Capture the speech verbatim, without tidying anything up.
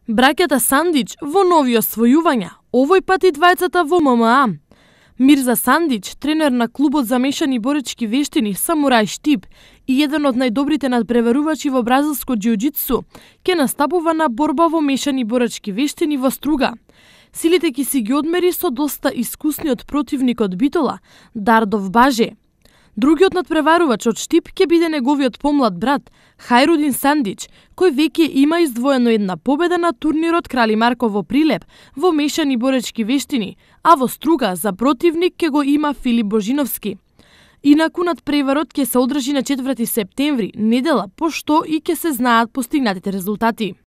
Браќата Сандич во нови освојувања, овој пат и двајцата во М М А. Мирза Сандич, тренер на клубот за мешани боречки вештини Самурај Штип и еден од најдобрите надпреварувачи во бразилско џиу-џитсу, ќе настапува на борба во мешани боречки вештини во Струга. Силите ќе си ги одмери со доста искусниот противник од Битола, Дардов Баже. Другиот надпреварувач од Штип ќе биде неговиот помлад брат, Хајрудин Сандич, кој веќе има издвоено една победа на турнирот Крали Марко во Прилеп во мешани боречки вештини, а во Струга за противник ќе го има Филип Божиновски. Инаку надпреварот ќе се одржи на четврти септември, недела, пошто и ќе се знаат постигнатите резултати.